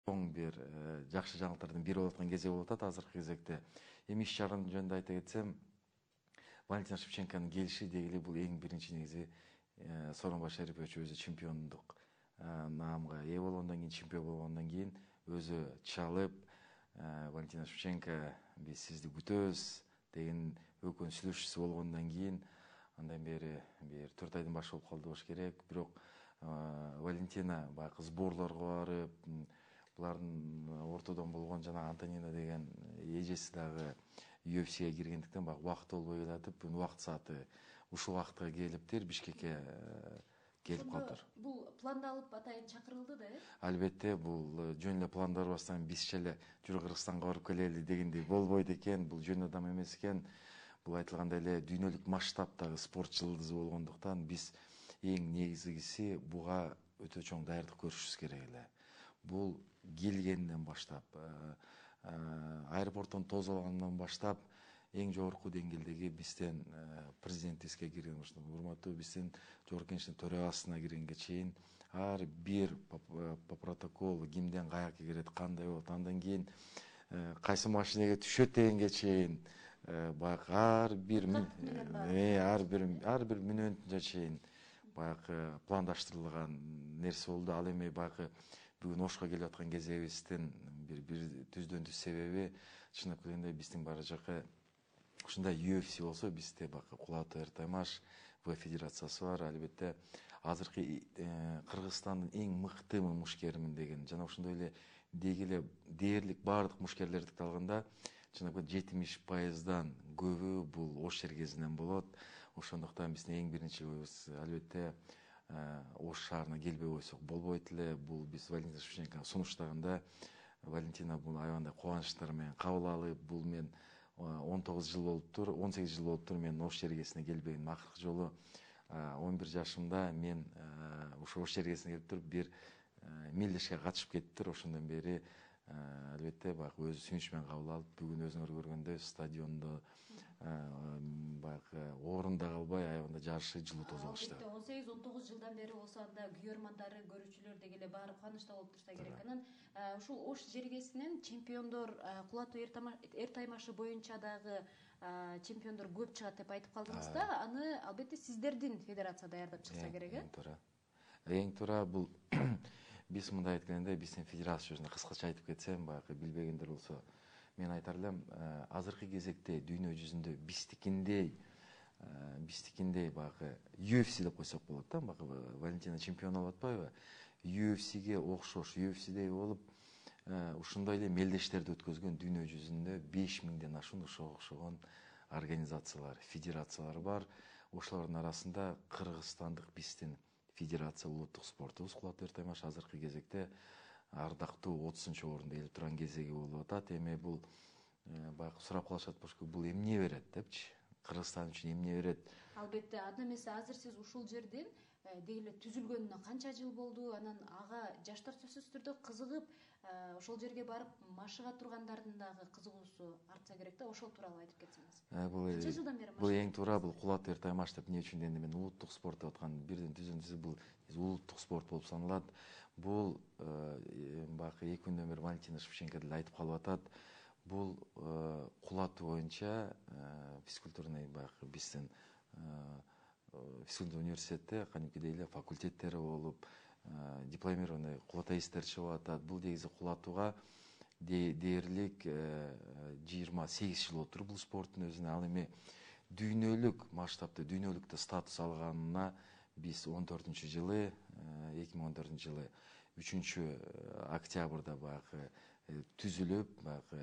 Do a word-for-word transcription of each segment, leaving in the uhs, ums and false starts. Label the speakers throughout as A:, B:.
A: чоң бир жакшы жаңылыктардын бири болуп аткан кезеги болуп атат азыркы кезекте. Эми иш чаранын жөнүндө айта кетсем, Валентина Шевченконун келиши дегеле бул эң биринчи негизи Сооронбай Шарипович өзү чемпиондук наамга ээ болгондон кийин, чемпион болгондон кийин өзү чалып, Валентина Шевченко биз сизди күтөбүз деген өкөн сүйлөшүүсү болгондон кийин андан бери бир төрт айдын башы болуп калды болуш керек. Бирок Валентина баягы сборлорго барып, булардын ортодон болгон жана Антонина деген эжеси дагы ю эф сиге киргендиктен баягы убакыты болбой келатып, бүгүн убакыт сааты ушул убакытка келиптир, Бишкекке келип калдыр.
B: Бул пландалып атайын чакырылды да, э?
A: Албетте, бул жөн эле пландарбастан бизче эле жүр Кыргызстанга барып келели дегендей болбойт экен, бул жөн адам эмес экен. Бул айтылгандай эле дүйнөлүк масштабтагы спорт жылдызы болгондуктан биз эң негизгиси буга өтө чоң даярдык көрүшүбүз керек эле. Бул келгенден баштап, аэропорттон тосулгандан баштап эң жогорку деңгээлдеги бизден президентибизге кирген, урматтуу биздин жогорку кеңештин төрагасына киргенге чейин ар бир по протоколу кимден каяка кирет, кандай болот, андан кийин кайсы машинеге түшөт дегенге чейин баягы ар бир ар бир ар бир мүнөтүнө чейин баягы пландаштырылган нерсе болду. Ал эми баягы бүгүн Ошко келип аткан кезегибиздин бир бир түздөн түз себеби чындап келгенде биздин бара жакы ушундай ю эф си болсо, бизде баягы Кулатов Эртаймаш В федерациясы бар. Албетте азыркы Кыргызстандын эң мыкты мушкеримин деген жана ошондой эле дегеле дээрлик баардык мушкерлерди алганда чындап жетимиш пайыздан көбү бул Ош чергезинен болот. Ошондуктан биздин эң биринчи албетте Ош шаарына келбей койсок болбойт эле. Бул биз Валентина Шевченкону сунуштаганда Валентина бул аябандай кубанычтар менен кабыл алып, бул мен он тогуз жыл болуптур, он сегиз жыл болуптур мен Ош чергесине келбегеним. Акыркы жолу он бир жашымда мен ошо Ош чергесине келип туруп бир мелдешке катышып кетиптир. Ошондон бери албетте баягы өзү сүйүнүч менен кабыл алып, бүгүн өзүңөр көргөндөй стадиондо баягы орунда калбай аябандай жарышып жылуу тосуп алышты.
B: он сегиз он тогуз жылдан бери болсо анда күйөрмандары, көрүүчүлөр дегеле баары кубанычта болуп турса керек. Анан ушул Ош жергесинен чемпиондор Кулатов Эртаймашы боюнча дагы чемпиондор көп чыгат деп айтып калдыңыз да. Аны албетте сиздердин федерация даярдап чыкса керек, э?
A: Эң туура. Эң туура бул биз мындай айтканда биздин федерация жөнүндө кыскача айтып кетсем, баягы билбегендер болсо, мен айтар элем, азыркы кезекте дүйнө жүзүндө биздикиндей биздикиндей баягы ю эф си деп койсок болот да, баягы Валентина чемпион болуп атпайбы? ю эф сиге окшош, ю эф сидей болуп ушундай эле мелдештерди өткөзгөн дүйнө жүзүндө беш миңден ашуун ошого окшогон организациялар, федерациялар бар. Ошолордун арасында кыргызстандык биздин федерация улуттук спортубуз Кулатов Эртаймаш азыркы кезекте ардактуу отузунчу орунда келип турган кезеги болуп атат. Эми бул баягы сурап калышат болуш керек, бул эмне берет депчи? Кыргызстан үчүн эмне берет?
B: Албетте, анда эмесе азыр сиз ушул жерден дегеле түзүлгөнүнө канча жыл болду? Анан ага жаштар сөзсүз түрдө кызыгып, ошол жерге барып машыга тургандардын дагы кызыгуусу артса керек да. Ошол тууралуу айтып кетсеңиз. Канча жылдан бери?
A: Бул эң туура, бул Кулатов Эртаймаш деп эмне үчүн дегенде, мен улуттук спорт деп аткан бирден түздөн түз бул улуттук спорт болуп саналат. Бул баягы эки күндөн бери Валентина Шевченко деле айтып калып атат. Бул Кулатов боюнча физкультурный баягы биздин физкультурный университетте кадимкидей эле факультеттери болуп, дипломированный кулатаисттер чыгып атат. Бул негизи Кулатовго дээрлик жыйырма сегиз жыл болуптур бул спорттун өзүнө. Ал эми дүйнөлүк масштабта, дүйнөлүктө статус алганына биз он төртүнчү жылы, эки миң он төртүнчү жылы үчүнчү октябрда баягы түзүлүп, баягы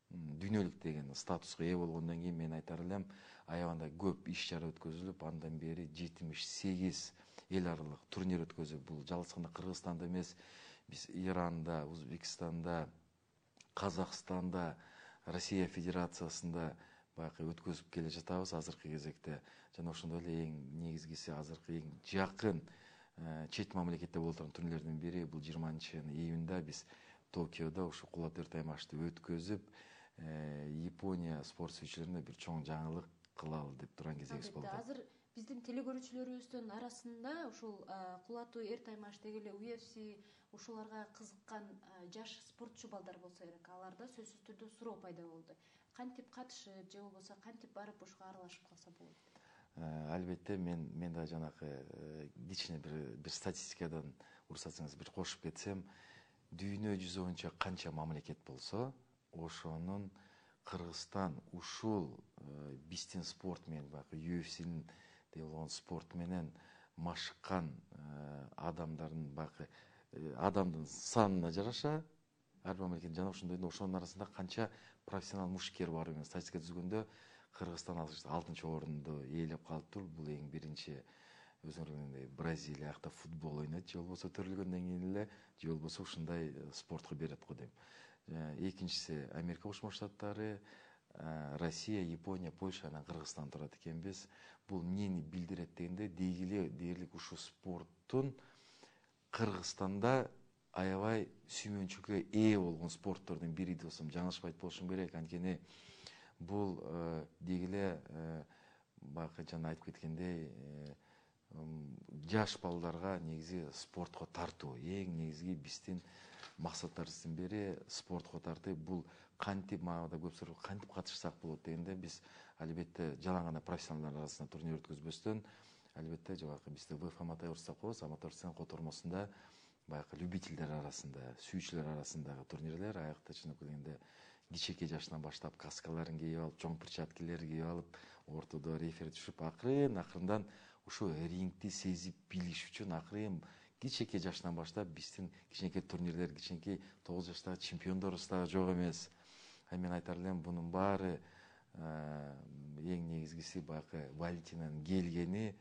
A: дүйнөлүк деген статуска ээ болгондон кийин мен айтар элем, аябандай көп иш чара өткөзүлүп, андан бери жетимиш сегиз эл аралык турнир өткөзүп, бул жалгыз гана Кыргызстанда эмес, биз Иранда, Өзбекстанда, Казакстанда, Россия Федерациясында баягы өткөзүп келе жатабыз азыркы кезекте. Жана ошондой эле эң негизгиси азыркы эң жакын чет мамлекетте болуп турган турнирлердин бири бул жыйырманчы июнда биз Токиодо ушу Кулатов Эртаймашты өткөзүп, Япония спорт сүйүүчүлөрүнө бир чоң жаңылык кылалы деп турган кезегибиз болду.
B: Азыр биздин телекөрүүчүлөрүбүздүн арасында ушул кулатуу эр таймаш деги эле ю эф си ушуларга кызыккан жаш спортчу балдар болсо керек, аларда сөзсүз түрдө суроо пайда болду. Кантип катышып же болбосо кантип барып ушуга аралашып калса болот?
A: Албетте мен мен да жанакы кичине бир бир статистикадан уруксатсаңыз бир кошуп кетсем, дүйнө жүзү боюнча канча мамлекет болсо, ошонун Кыргызстан ушул биздин спорт менен баягы ю эф синин деп болгон спорт менен машыккан адамдардын баягы адамдын санына жараша ар бир мамлекет жана ошондой ошонун арасында канча профессионал мушкер бар деген статистика түзгөндө Кыргызстан алтынчы орунду ээлеп калыптыр. Бул эң биринчи өзүңөр билгендей Бразилия акта футбол ойнойт, же болбосо төрөлгөндөн кийин эле же болбосо ушундай спортко берет го дейм. Экинчиси Америка Кошмо Штаттары, Россия, Япония, Польша, анан Кыргызстан турат экенбиз. Бул эмнени билдирет дегенде, деги эле дээрлик ушул спорттун Кыргызстанда аябай сүймөнчүккө ээ болгон спорттордун бири досум, жаңылышпайт болушум керек. Анткени бул деги эле баягы жана айтып кеткендей жаш балдарга негизи спортко тартуу эң негизги биздин максаттарыбыздын бири спортко тартуу. Бул кантип мага көп суроо кантип катышсак болот дегенде, биз албетте жалаң гана профессионалдар арасында турнир өткөзбөстөн, албетте жабакы бизде ВФ Аматорс деп коебуз, Аматорстун котормосунда баягы любительдер арасында, сүйүүчүлөр арасындагы турнирлер, аякта чынып келгенде кичинекей жаштан баштап каскаларын кийип алып, чоң перчаткилерди кийип алып, ортодо рефери түшүп, акырын акырындан ушу рингти сезип билиш үчүн акырын кичинекей жаштан баштап биздин кичинекей турнирлер, кичинекей тогуз жаштагы чемпиондорубуз дагы жок эмес. Мен айтар элем, бунун баары эң негизгиси баягы Валентинанын келгени,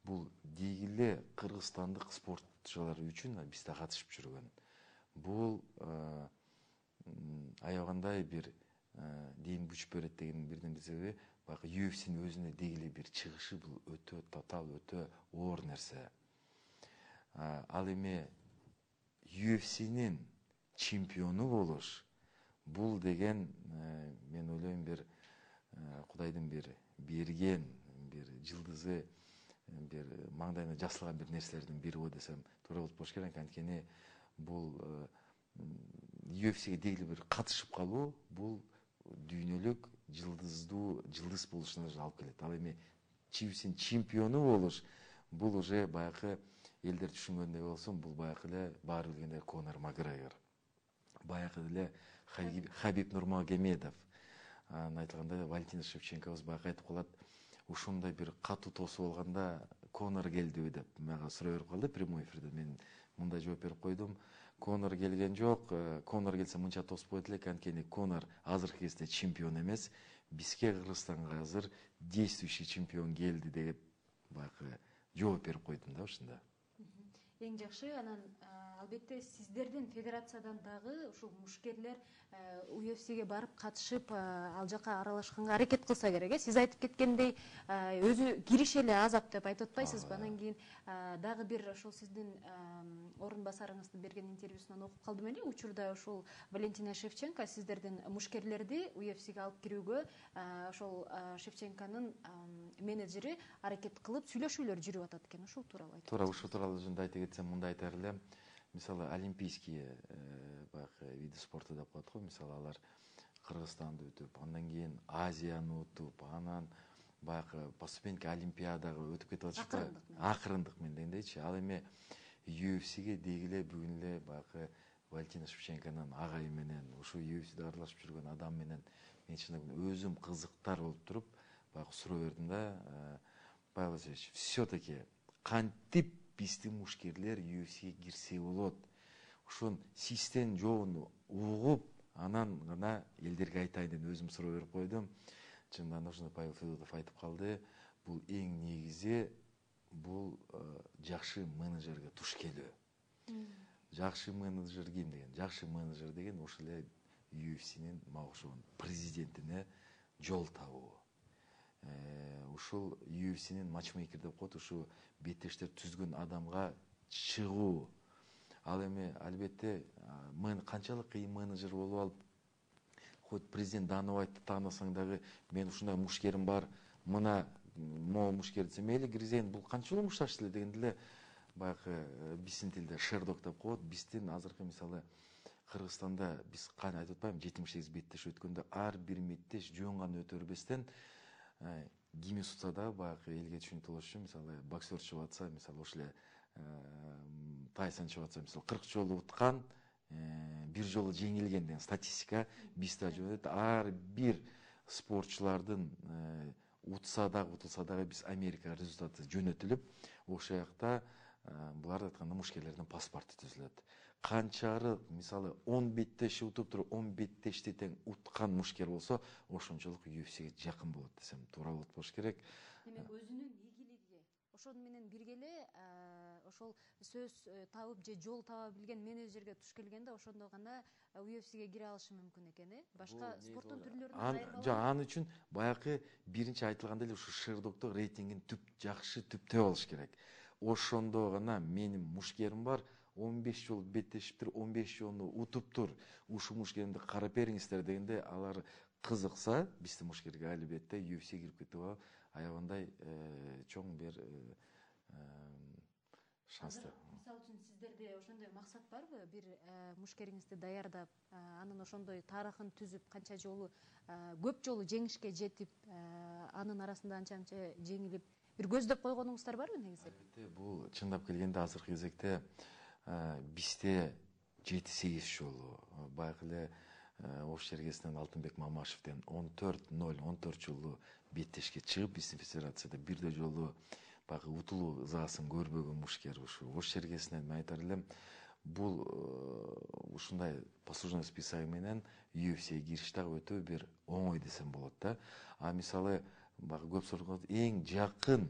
A: бул деги эле кыргызстандык спортчулар үчүн бизде катышып жүргөн. Бул аябагандай бир ден күч берет деген бирден бир себеби, баягы ю эф синин өзүнө деги эле бир чыгышы бул өтө татаал, өтө оор нерсе. Ал эми ю эф синин чемпиону болуш, бул деген мен ойлойм бир Кудайдын бир берген бир жылдызы, бир маңдайына жасалган бир нерселердин бири го десем туура болуп болуш керек. Анткени бул ю эф сиге деги эле бир катышып калуу, бул дүйнөлүк жылдыздуу жылдыз болушуна алып келет. Ал эми ю эф синин чемпиону болуш, бул уже баягы элдер түшүнгөндөй болсун, бул баягы эле баары билгендей Конор Макгрегор, баягы эле Хабиб Нурмагомедов. Анан айтылгандай Валентин Шевченкобуз баягы айтып калат, ушундай бир катуу тосуп алганда Конор келдиби деп мага суроо берип калды прямой эфирде. Мен мындай жооп берип койдум: Конор келген жок, Конор келсе мынча тоспойт элек, анткени Конор азыркы кезде чемпион эмес, бизге Кыргызстанга азыр действующий чемпион келди деп баягы жооп берип койдум да ушунда.
B: Эң жакшы. Анан албетте сиздердин федерациядан дагы ушул мушкерлер ю эф сиге барып катышып, ал жака аралашканга аракет кылса керек. Э сиз айтып кеткендей, өзү кириш эле азап деп айтып атпайсызбы? Анан кийин дагы бир ошол сиздин орун басарыңыздын берген интервьюсунан окуп калдым эле. Учурда ушул Валентина Шевченко сиздердин мушкерлерди ю эф сиге алып кирүүгө ошол Шевченконун менеджери аракет кылып сүйлөшүүлөр жүрүп атат экен. Ушул тууралуу айтып.
A: Туура, ушул тууралуу өзүмдү айта кетсем, мындай айтар элем. Мисалы олимпийские баягы виды спорта деп коет го. Мисалы алар Кыргызстанды өтүп, андан кийин Азияны утуп, анан баягы поступеньки олимпиадага өтүп кетип атышпы? Акырындык менен дегендейчи. Ал эми ю эф сиге деги эле бүгүн эле баягы Валентина Шевченконун агайы менен, ушул ю эф сиде аралашып жүргөн адам менен мен чын өзүм кызыктар болуп туруп баягы суроо бердим да: Павел Васильевич, все-таки кантип биздин мушкерлер ю эф сиге кирсе болот? Ушун систен жообун угуп, анан гана элдерге айтайын деп өзүм суроо берип койдум. Чындыгында ошондо Павел Федотов айтып калды: бул эң негизи бул жакшы менеджерге туш келүү. Жакшы менеджер ким деген? Жакшы менеджер деген ушул эле ю эф синин мага ошон президентине жол табуу. Ушул ю эф синин матчмейкер деп коет, ушу беттештер түзгөн адамга чыгуу. Ал эми албетте мен канчалык кыйын менеджер болуп алып, хоть президент Даныбайды таанасаң дагы, мен ушундай мушкерим бар, мына могу мушкер десе мейли киргизейин, бул канча жолу мушташты эле дегенде эле баягы биздин тилде шердок деп коет. Биздин азыркы мисалы Кыргызстанда биз кане айтып атпаймынбы, жетимиш сегиз беттеш өткөндө ар бир меттеш жөн гана өтө бербестен ким утса да баягы элге түшүнүктүү болуш үчүн мисалы боксер чыгып атса, мисалы ошол эле Тайсон чыгып атса, мисалы кырк жолу уткан, бир жолу жеңилген деген статистика бизде жөнөт. Ар бир спортчулардын утса дагы утулса дагы биз Америкага результаты жөнөтүлүп, ошол жакта буларды айтканда мушкерлердин паспорту түзүлөт. Канчары мисалы он беттеши утуп туруп он беттешти тең уткан мушкер болсо, ошончолук ю эф сиге жакын болот десем туура болот болуш керек.
B: Демек өзүнүн ийгилиги ошону менен бирге эле ошол сөз табып же жол таба билген менеджерге туш келгенде ошондо гана ю эф сиге кире алышы мүмкүн экен, э? Башка спорттун түрлөрүнөн айырмаланат.
A: Жок, ал үчүн баягы биринчи айтылгандай эле ушу Шердокто рейтингин түп жакшы түптөө болуш керек. Ошондо гана менин мушкерим бар, он беш жолу беттешиптир, он беш жолу утуптур, ушул мушкеримди карап бериңиздер дегенде алар кызыкса, биздин мушкерге албетте ю эф сиге кирип кетип алып, аябандай чоң бир шанстар.
B: Мисалы үчүн сиздерде ошондой максат барбы? Бир мушкериңизди даярдап, анын ошондой тарыхын түзүп, канча жолу көп жолу жеңишке жетип, анын арасында анча-анча жеңилип, бир көздөп койгонуңуздар барбы негизи?
A: Албетте, бул чындап келгенде азыркы кезекте бизде жети сегиз жолу баягы эле Ош Чергесинен Алтынбек Мамашевден он төрт ноль он төрт жолу беттешке чыгып, биздин федерацияда бирде жолу баягы утулуу ызаасын көрбөгөн мушкер ушу Ош Чергесинен мен айтар элем, бул ушундай послужной списоги менен ю эф сиге кириш дагы өтө бир оңой десем болот да. А мисалы баягы көп суроо эң жакын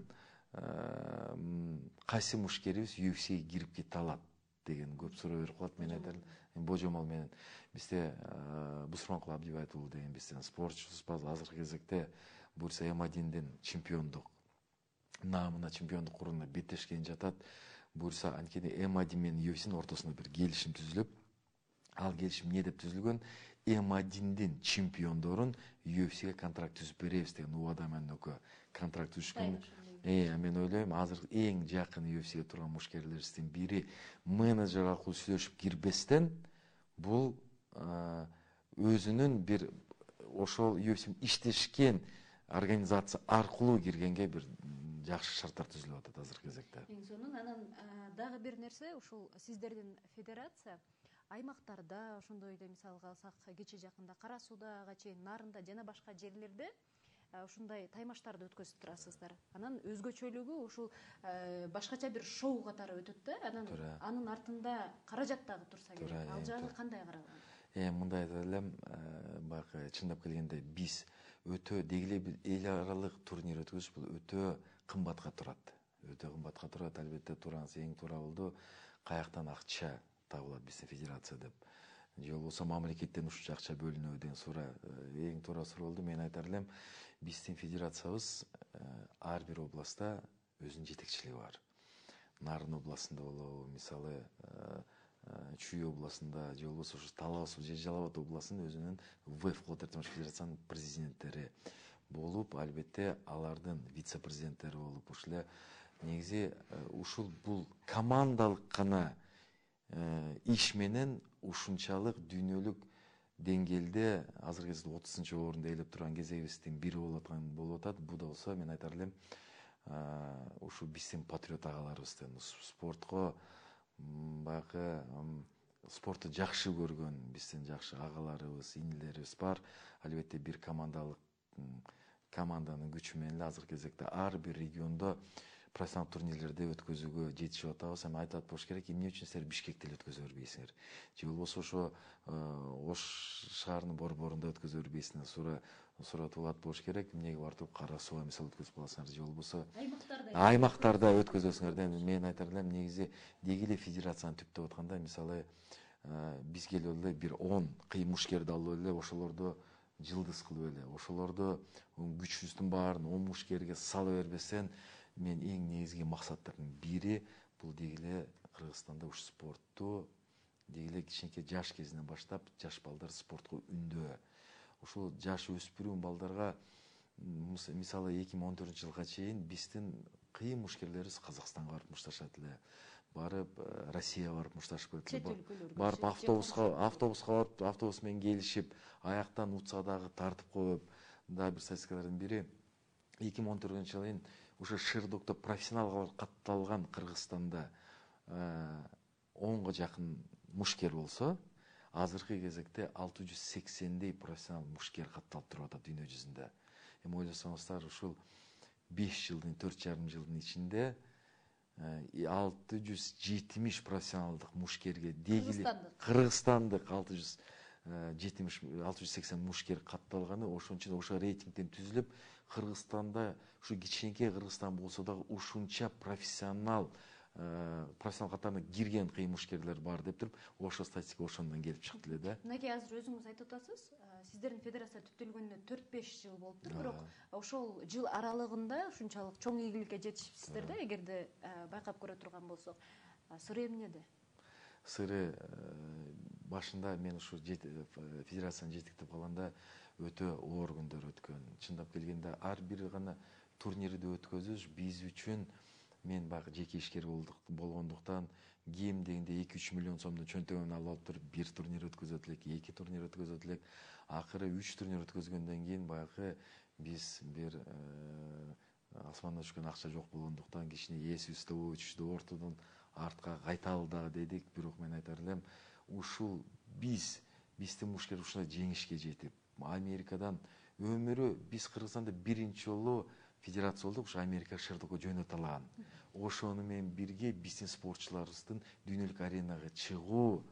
A: кайсы мушкерибиз ю эф сиге кирип кете алат деген көп суроо берип калат. Мен айтар элем, божомол менен бизде Бусурманкул Абдибайт уулу деген биздин спортчубуз бар. Азыркы кезекте буюрса эм одиндин чемпиондук наамына, чемпиондук уруна беттешкен жатат. Буюрса анткени эм один менен ю эф синин ортосунда бир келишим түзүлүп, ал келишим эмне деп түзүлгөн? эм одиндин чемпиондорун ю эф сиге контракт түзүп беребиз деген убада менен экөө контракт түзүшкөн. Э, мен ойлойм, азыр эң жакын ю эф сиге турган мушкерлерибиздин бири менеджер аркылуу сүйлөшүп кирбестен, бул өзүнүн бир ошол ю эф си иштешкен организация аркылуу киргенге бир жакшы шарттар түзүлүп атат азыркы кезекте.
B: Эң сонун анан дагы бир нерсе, ушул сиздердин федерация аймактарда, ошондой эле мисалга алсак, кечээ жакында Кара Суудага чейин, Нарында жана башка жерлерде ушундай таймаштарды өткөзүп турасыздар. Анан өзгөчөлүгү ушул башкача бир шоу катары өтөт да, анан анын артында каражат дагы турса керек. Ал жагы кандай каралган?
A: Э, мындай айта элем, баягы чындап келгенде биз өтө дегиле бир эл аралык турнир өткөзүш бул өтө кымбатка турат. Өтө кымбатка турат, албетте туураңыз эң туура болду. Каяктан акча табылат биздин федерация деп. Же болбосо мамлекеттен ушунча акча бөлүнөбү деген суроо эң туура суроо болду. Мен айтар элем, биздин федерациябыз ар бир областта өзүнүн жетекчилиги бар. Нарын областында болобу, мисалы Чүй областында, же болбосо ушу Талас же Жалал Абад областынын өзүнүн вэ эф Кулат Эртемаш федерациянын президенттери болуп, албетте алардын вице-президенттери болуп, ушул эле негизи ушул бул командалык гана иш менен ушунчалык дүйнөлүк деңгээлде азыркы кезде отузунчу орунду ээлеп турган кезегибиздин бири болуп аткан болуп атат. Бул да болсо мен айтар элем, ушу биздин патриот агаларыбыздын спортко баягы спортту жакшы көргөн биздин жакшы агаларыбыз, инилерибиз бар. Албетте бир командалык команданын күчү менен эле азыркы кезекте ар бир региондо профессионалдык турнирлерди өткөзүүгө жетишип атабыз. Эми айтып болуш керек, эмне үчүн силер Бишкекте эле өткөзө бербейсиңер? Же болбосо ошо Ош шаарынын борборунда өткөзө бербейсиңер? Суроо суратып алат болуш керек. Эмнеге барып Кара Сууга мисалы өткөзүп аласыңар? Же болбосо аймактарда аймактарда өткөзөсүңөр? Мен айтар элем, негизи деги эле федерацияны түптөп атканда, мисалы бизге эле бир он кыйын мушкерди алып эле ошолорду жылдыз кылып эле, ошолорду күчүбүздүн баарын он мушкерге сала бербестен, мен эң негизги максаттардын бири бул деги эле Кыргызстанда ушу спортту деги эле кичинекей жаш кезинен баштап жаш балдар спортко үндөө. Ушул жаш өспүрүм балдарга мисалы эки миң он төртүнчү жылга чейин биздин кыйын мушкерлерибиз Казакстанга барып мушташат эле, барып Россияга барып мушташып келет эле, барып автобуска автобуска барып автобус менен келишип, аяктан утса дагы тартып коюп. Дагы бир статистикалардын бири эки миң он төртүнчү жылы ушу Шырдукта профессионалга катталган Кыргызстанда онго жакын мушкер болсо, азыркы кезекте алты жүз сексендей профессионал мушкер катталып туруп атат дүйнө жүзүндө. Эми ойлосоңуздар, ушул беш жылдын, төрт жарым жылдын ичинде алты жүз жетимиш профессионалдык мушкерге дегили кыргызстандык алты жүз жетимиш алты жүз сексен мушкер катталганы, ошон үчүн ошо рейтингден түзүлүп, Кыргызстанда ушу кичинекей Кыргызстан болсо дагы ушунча профессионал профессионал катарына кирген кыйын мушкерлер бар деп туруп, ошо статистика ошондон келип чыкты эле да.
B: Мынакей азыр өзүңүз айтып атасыз, сиздердин федерация түптөлгөнүнө төрт беш жыл болуптур, бирок ошол жыл аралыгында ушунчалык чоң ийгиликке жетишипсиздер да, эгерде байкап көрө турган болсок. Сыры эмнеде?
A: Сыры башында мен ушу федерацияны жетектеп калганда өтө оор күндөр өткөн. Чындап келгенде ар бир гана турнирди өткөзүш биз үчүн, мен баягы жеке ишкер болгондуктан кем дегенде эки үч миллион сомдун чөнтөгүн алып алып туруп бир турнир өткөзөт элек, эки турнир өткөзөт элек. Акыры үч турнир өткөзгөндөн кийин баягы биз бир асмандан түшкөн акча жок болгондуктан кичине эсибизди очушту ортодон артка кайталы дагы дедик. Бирок мен айтар элем, ушул биз биздин мушкер ушундай жеңишке жетип, Америкадан өмүрү биз Кыргызстанда биринчи жолу федерация болдук, ушу Америка Шырдыкка жөнөтө алган. Ошону менен бирге биздин спортчуларыбыздын дүйнөлүк аренага чыгуу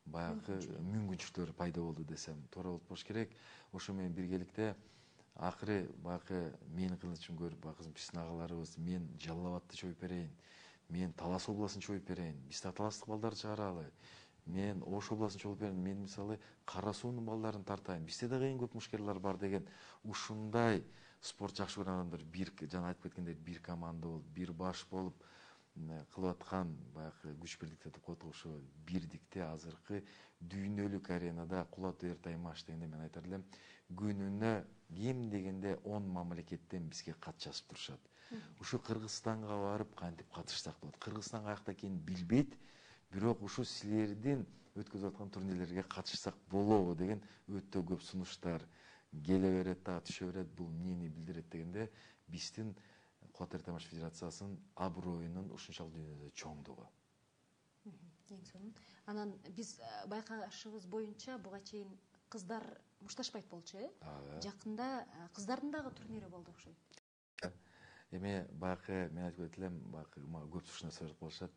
A: баягы мүмкүнчүлүктөр пайда болду десем туура болуп болуш керек. Ошо менен биргеликте акыры баягы менин кылычым көрүп, баягы биздин агаларыбыз, мен Жалал Абадты чоюп берейин, мен Талас областын чоюп берейин, биз да таластык балдарды чыгаралы, мен Ош областын чоюп берейин, мен мисалы Кара Суунун балдарын тартайын, бизде да эң көп мушкерлер бар деген ушундай спорт жакшы көргөн адамдар бир, жана айтып кеткендей, бир команда болуп, бир баш болуп кылып аткан баягы күч бирдикте деп коет, ошо бирдикте азыркы дүйнөлүк аренада кулатуу эртаймаш дегенде мен айтар элем, күнүнө кем дегенде он мамлекеттен бизге кат жазып турушат. Ушу Кыргызстанга барып кантип катышсак болот. Кыргызстан каякта экенин билбейт, бирок ушу силердин өткөзүп аткан турнирлерге катышсак болобу деген өтө көп сунуштар келе берет да, түшө берет. Бул эмнени билдирет дегенде, биздин Кулатуу эртаймаш федерациясынын аброюнун ушунчалык дүйнөдө чоңдугу.
B: Эң сонун. Анан биз байкашыбыз боюнча буга чейин кыздар мушташпайт болчу, э? Жакында кыздардын дагы турнири болду окшойт.
A: Эми баягы мен айтып кетелем, баягы көп ушундай сурап калышат.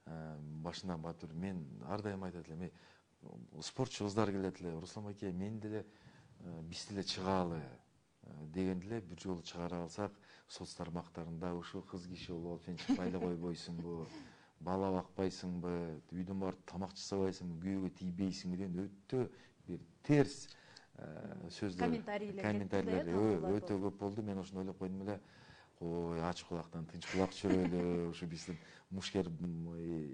A: Башынан батыр мен ар дайым айтат элем, спортчу кыздар келет эле, Руслан байке, мен деле биз деле чыгалы деген деле бир жолу чыгара алсак, соц тармактарында ушу кыз киши болуп сен чыкпай эле койбойсуңбу, бала бакпайсыңбы, үйдөн барып тамак жасабайсыңбы, күйөөгө тийбейсиңби деген өтө бир терс сөздөр, комментарийлер өтө көп болду. Мен ошону ойлоп койдум эле, ой, ач кулактан тынч кулак жүрөлү, ушу биздин мушкер,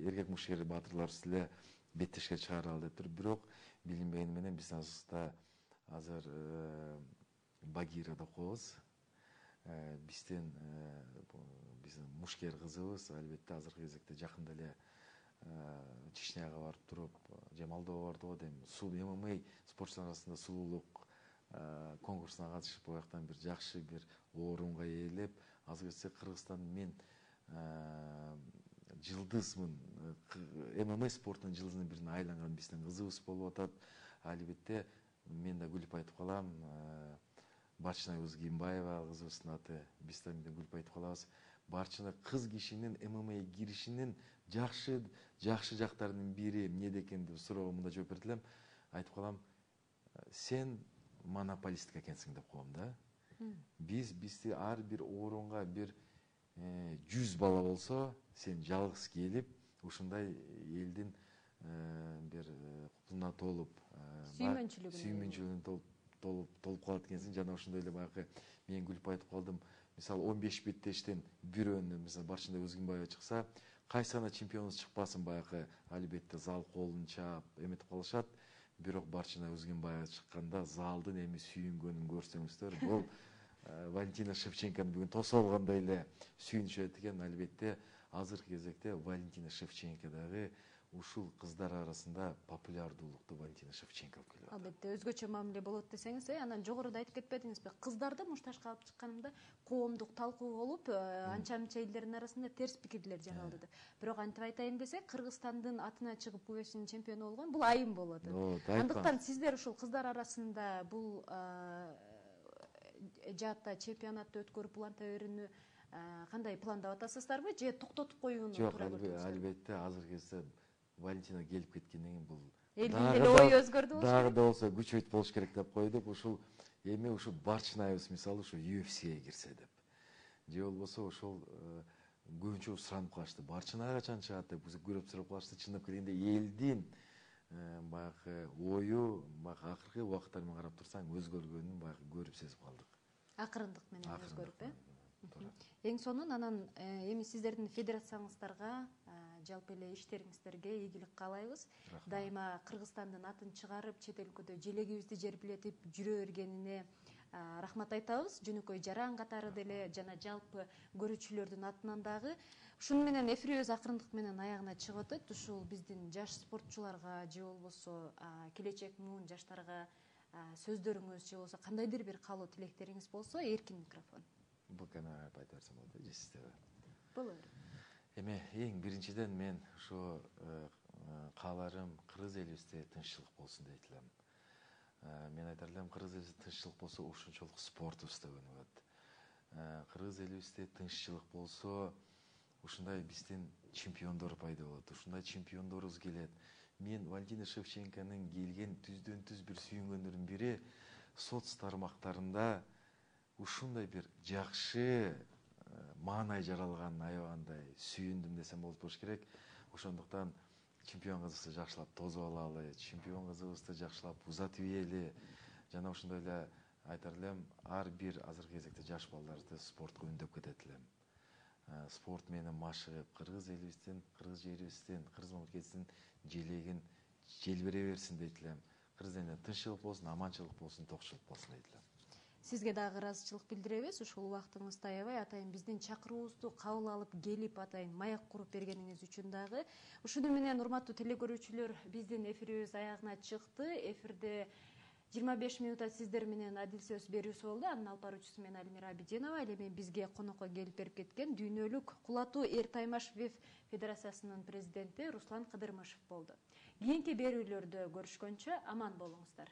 A: эркек мушкер баатырларыбыз деле беттешке чыгаралы деп туруп. Бирок билинбегени менен биздин арасыбызда азыр Багира деп коебуз. Биздин биздин мушкер кызыбыз албетте азыркы кезекте жакында эле Чечняга барып туруп, же Молдова барды го дейм, ММА спортчулар арасында сулуулук конкурсуна катышып, бояктан бир жакшы бир орунга ээлеп, азыр кетсе Кыргызстан мен жылдызмын, ММА спортунун жылдызынын бирине айланган биздин кызыбыз болуп атат. Албетте мен да күлүп айтып калам, Барчина Узгимбаева кызыбыздын аты, биз да күлүп айтып калабыз. Барчина кыз кишинин ММА киришинин жакшы жакшы жактарынын бири эмнеде экен деп суроого мындай жооп берет элем. Айтып калам, сен монополистка экенсиң деп коем да. Биз бизди ар бир орунга бир жүз бала болсо, сен жалгыз келип, ушундай элдин бир кутуна толуп, сүймөнчүлүгүнө толуп толуп калат экенсиң. Жана ошондой эле баягы мен күлүп айтып калдым. Мисалы он беш беттештен бирөөнү, мисалы Барчина Узгимбаева чыкса, кайсы гана чемпионубуз чыкпасын, баягы албетте зал колун чаап эметип калышат. Бирок Барчина Узгимбаева чыкканда залдын эми сүйүнгөнүн көрсөңүздөр, бул Валентина Шевченкону бүгүн тосуп алгандай эле сүйүнүшөт экен. Албетте азыркы кезекте Валентина Шевченко дагы ушул кыздар арасында популярдуулукту Валентина Шевченко алып келип атат.
B: Албетте өзгөчө мамиле болот десеңиз, анан жогоруда айтып кетпедиңизби? Кыздарды мушташка алып чыкканымда коомдук талкуу болуп, анча мынча элдердин арасында терс пикирлер жаралды деп. Бирок антип айтайын десек, Кыргызстандын атына чыгып УЕФСинин чемпиону болгон бул айым болот. Андыктан сиздер ушул кыздар арасында бул жаатта чемпионатты өткөрүп уланта берүүнү кандай пландап атасыздарбы, же токтотуп коюуну туура көрдүңүзбү?
A: Жок, албетте азыркы кезде Валентина келип кеткенден кийин бул
B: элдин деле ою өзгөрдү болуш керек.
A: Дагы да болсо күчөйт болуш керек деп койдук. Ушул эми ушул Барчынаевбыз мисалы ушу ЮЭФСиге кирсе деп. Же болбосо ошол көбүнчө суранып калышты. Барчынага качан чыгат деп көрүп сурап калышты. Чындап келгенде элдин баягы ою баягы акыркы убакыттар менен карап турсаң өзгөргөнүн баягы көрүп сезип калдык.
B: Акырындык менен өзгөрүп, э? Эң сонун анан эми сиздердин федерацияңыздарга, жалпы эле иштериңиздерге ийгилик каалайбыз. Дайыма Кыргызстандын атын чыгарып, чет өлкөдө желегибизди жербилетип жүрө бергенине рахмат айтабыз. Жөнөкөй жаран катары деле жана жалпы көрүүчүлөрдүн атынан дагы. Ушуну менен эфирибиз акырындык менен аягына чыгып атат. Ушул биздин жаш спортчуларга же болбосо келечек муун жаштарга сөздөрүңүз же болбосо кандайдыр бир каалоо тилектериңиз болсо, эркин микрофон.
A: Бул камера айта берсем болот, же сиздерге?
B: Болот.
A: Эми эң биринчиден мен ушу кааларым кыргыз элибизде тынччылык болсун дейт элем. Мен айтар элем, кыргыз элибизде тынччылык болсо ушунчолук спортубуз да өнүгөт. Кыргыз элибизде тынччылык болсо ушундай биздин чемпиондор пайда болот. Ушундай чемпиондорубуз келет. Мен Валентина Шевченконун келген түздөн түз бир сүйүнгөндөрдүн бири соц тармактарында ушундай бир жакшы маанай жаралганын аябагандай сүйүндүм десем болот болуш керек. Ошондуктан чемпион кызыбызды жакшылап тосуп алалы, чемпион кызыбызды жакшылап узатып ийели. Жана ошондой эле айтар элем, ар бир азыркы кезекте жаш балдарды спортко үндөп кетет элем. Спорт менен машыгып, кыргыз элибиздин, кыргыз жерибиздин, кыргыз мамлекетибиздин желегин желбире берсин дейт элем. Кыргыз элине тынччылык болсун, аманчылык болсун, токчулук болсун дейт элем.
B: Сизге дагы ыраазычылык билдиребиз. Ушул убактыңызды аябай атайын биздин чакыруубузду кабыл алып келип атайын маяк куруп бергениңиз үчүн дагы. Ушуну менен урматтуу телекөрүүчүлөр, биздин эфирибиз аягына чыкты. Эфирде жыйырма беш минутта сиздер менен Адил сөз берүүсү болду. Анын алып баруучусу мен Альмира Абидинова. Ал эми бизге конокко келип берип кеткен дүйнөлүк кулатуу эр таймаш ВИФ Федерациясынын президенти Руслан Кыдырмышев болду. Кийинки берүүлөрдө көрүшкөнчө аман болуңуздар.